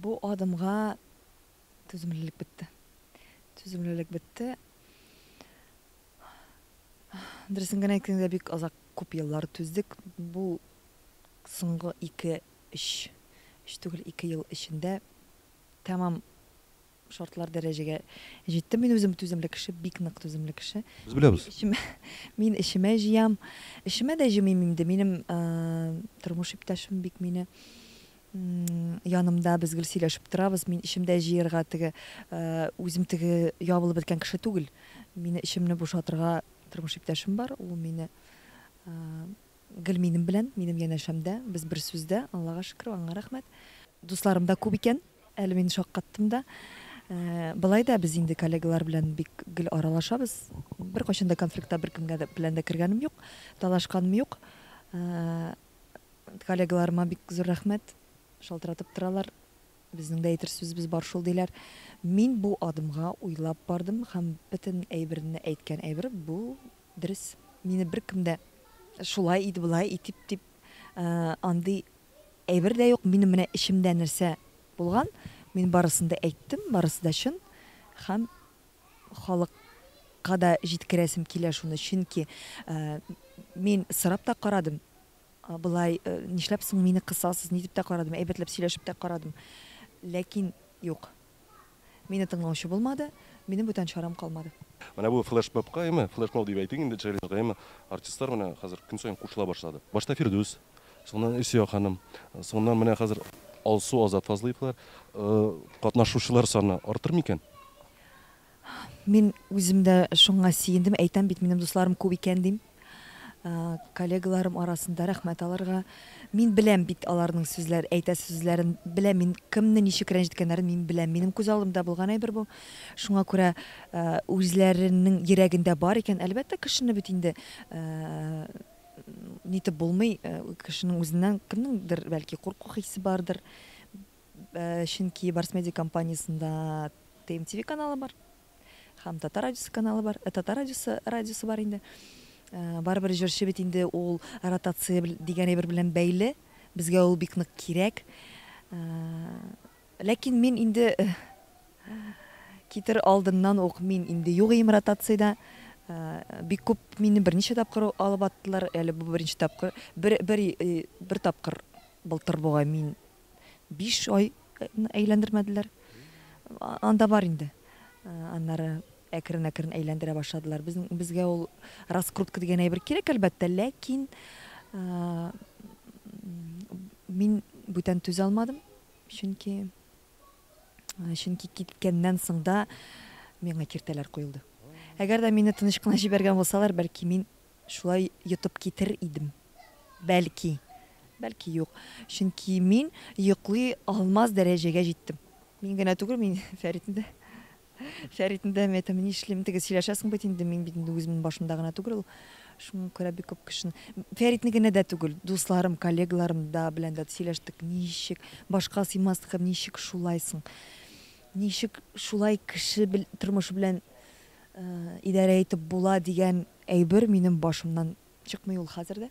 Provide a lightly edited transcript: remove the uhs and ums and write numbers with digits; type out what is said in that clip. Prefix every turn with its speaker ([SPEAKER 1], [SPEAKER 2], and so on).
[SPEAKER 1] Бу адымга түземлелек бетте. Түземлелек бетте. Дөресен генә әйткәндә, бик озак, күп еллар түздек. Бу соңгы ике, өч, өч түгел, 2 ел эчендә тәмам шартлар дәрәҗәгә җиттем. Мин үзем түземле кеше, бик нык түземле кеше.
[SPEAKER 2] Без беләбез.
[SPEAKER 1] Эчемә, мин эчемә җыям. Эчемә дә җыймыйм инде. Минем тормыш иптәшем бик мине янымда, без гел сөйләшеп торабыз. Мин эчемдә җыерга теге үзем теге ябылып беткән кеше түгел. Мине эчемне бушатырга тормыш иптәшем бар. Ул мине гел минем белән, минем янәшәмдә. Без бер сүздә, Аллага шөкер, аңа рәхмәт. Дусларым да күп икән. Әле мин шаккаттым да. Болай да без инде коллегалар белән бик гел аралашабыз. Беркайчан да конфликтта беркемгә дә белән дә кергәнем юк, талашканым юк. Коллегаларыма бик зур рәхмәт. Шалтыратып торалар. Безнең дә әйтер сүзебез бар шул, диләр. Мин бу адымга уйлап бардым һәм бөтен әйберне әйткән әйбер бу дөрес. Мине беркем дә шулай ит, болай ит дип, дип андый әйбер дә юк. Минем менә эчемдә нәрсә булган, мин барысын да әйттем, барысы да чын. Һәм халыкка да җиткерәсем килә шуны, чөнки мин сорап та карадым. Болай, нишләп соң мине кысасыз, ни дип тә карадым, әйбәтләп сөйләшеп тә карадым. Ләкин юк. Мине тыңлаучы булмады, минем бүтән чарам калмады.
[SPEAKER 2] Менә бу флешмобка, әйме, флешмоб дип әйтик инде, челленджга, әйме, артистлар менә хәзер көн саен кушыла башлады. Башта Фирдүс, соңыннан Илсөя ханым, соңыннан менә хәзер Алсу, Азат Фазлыевлар. Катнашучылар саны артыр микән?
[SPEAKER 1] Мин үзем дә шуңа сөендем, әйтәм бит, минем дусларым күп икән дим. Коллегаларым арасында рәхмәт аларга. Мин беләм бит аларның сүзләр, әйтә сүзләрен беләм, мин кемне ничек рәнҗеткәннәрен мин беләм. Минем күз алдымда булган әйбер бу. Шуңа күрә үзләренең йөрәгендә бар икән, әлбәттә, кешене бит инде нитеп булмый, кешенең үзеннән кемнеңдер бәлки курку хисе бардыр. Чөнки Барс Медиа компаниясендә ТМТВ каналы бар һәм Татар радиосы каналы бар, Татар радиосы радиосы бар инде. Барыбер җырчы бит инде ул ротация дигән әйбер белән бәйле. Безгә ул бик нык кирәк. Ләкин мин инде китер алдыннан ук мин инде юк ием ротациядә. Бик күп мине берничә тапкыр алып аттылар. Әле бу беренче тапкыр, бер бер бер тапкыр былтыр бугай мин 5 ай әйләндермәделәр. Анда бар инде. Аннары әкрен-әкрен әйләндерә башладылар. Безнең безгә ул раскрутка дигән әйбер кирәк, әлбәттә, ләкин мин бүтән түзә алмадым, чөнки чөнки киткәннән соң да миңа киртәләр куелды. Әгәр дә мине тыныч кына җибәргән булсалар, бәлки мин шулай йотып китер идем. Бәлки. Бәлки юк. Чөнки мин йоклый алмас дәрәҗәгә җиттем. Мин генә түгел, мин Фәритне дә Фәритне дә, мин әйтәм, нишлим, теге сөйләшәсең бит инде, мин бит инде үземнең башымда гына түгел ул. Шуңа күрә бик күп кешене, Фәритне генә дә түгел, дусларым, коллегаларым да белән дә сөйләштек, ничек башка сыймаслык һәм ничек шулай соң? Ничек шулай кеше тормышы белән идарә итеп була дигән әйбер минем башымнан чыкмый ул хәзер дә.